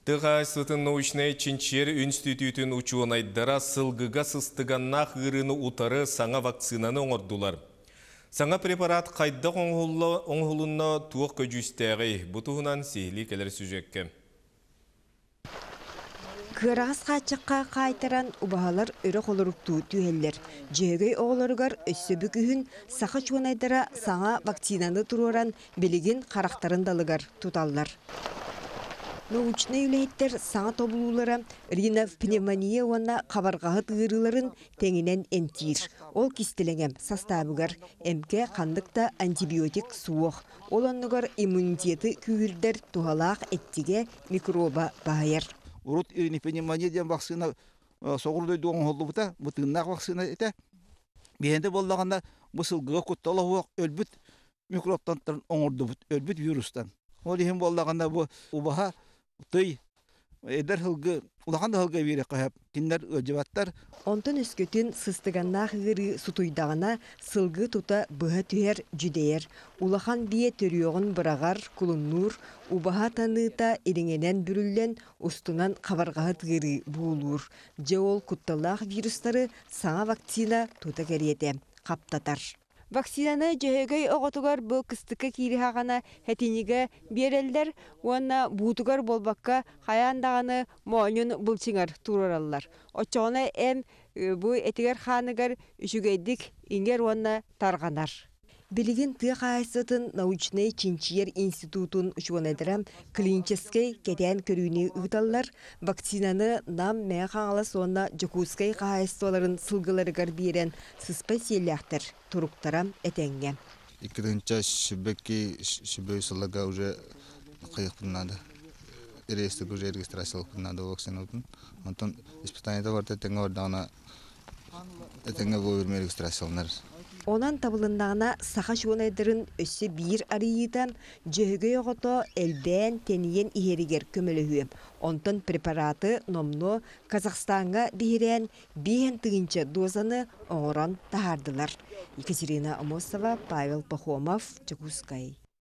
Тыа хаһаайыстыбатын научнай чинчийэр үнстүтүүтүн учуонайдара сылгыга сыстыганнаах ыарыыны утары саҥа вакцинаны оҥордулар. Саҥа препарат хайдах оҥоһулунна, туох көдьүүстээҕий? Бу туһунан сиһилии кэлэр сюжеккэ. Кыараҕас хааччахха хаайтаран убаһалар өрө холоруктуу түһэллэр. Дьөһөгөй оҕолоругар өссө бу күһүн саха чуонайдара саҥа вакцинаны туруоран билигин харахтарын далыгар туталлар. Научнай үлэһиттэр саҥа тобулуулара ринопневмония уонна хабарҕаһыт ыарыыларын тэҥинэн эмтиир. Ол кистэлэҥэ састаабыгар эмкэ ханнык да антибиотик суох. Ол оннугар иммунитеты күүһүрдэр туһалаах эттигэ микроба баһыйар. Урут ринопневмония диэн вакцина соҕуруу дойдуга оҥоһуллубута, бу тыыннаах вакцина этэ. Биһиэнэ буоллаҕына бу сылгыга куттала суох өлбүт микробтан оҥордубут, өлбүт вирустан. Ол иһин буоллаҕына бу убаһа, тый, эдэр сылгы, улахан да сылгы биэриэххэ сөп. Кинилэр ыалдьыбаттар. Онтон өскөтүн сыстыганнаах ыарыы сутуйдаҕына, сылгы тута быһа түһэр, дьүдэйэр. Улахан биэ төрүөҕүн быраҕар, кулуннуур, убаһа таныыта ириҥэнэн бүрүллэн, устунан хабарҕаһыт ыарыы буулуур. Дьэ ол кутталлаах вирустары саҥа вакцина тута кэриэтэ хаптатар. Вакцинаны Дьөһөгөй оҕотугар бу кыстыкка киириһаҕына хэтинигэ биэрэллэр уонна буутугар буолбакка хайаан даҕаны моонньун былчыҥар туруораллар. Оччоҕуна эм бу этигэр-хааныгар үчүгэйдик иҥэр уонна тарҕанар. Билигин тыа хаһаайыстыбатын научнай чинчийэр институтун учуонайдара клиническэй кэтээн көрүүнү ыыталлар, вакцинаны Нам, Мэҥэ Хаҥалас уонна Дьокуускай хаһаайыстыбаларын сылгыларыгар биэрэн сыспай сиэллээхтэр туруктара этэҥҥэ. Иккитинчэ сүбэки сүбэ сылларга уже хайыахпын наада. Реестрге уже регистрациялыахпын наада вакцинабытын. Онтон испытаниета барыта тэҥҥэ бардаҕына этэҥҥэ вовремя регистрацияланар. Онон табылыннаҕына саха чуонайдарын өссө биир арыйыыта Дьөһөгөй оҕото элбээн, тэнийэн иһэригэр көмөлөһүө. Онтон препараты номнуо Казахстаҥҥа биһирээн 5000 дозаны оҥорон таһаардылар. Екатерина Амосова, Павел Пахомов, Дьокуускай.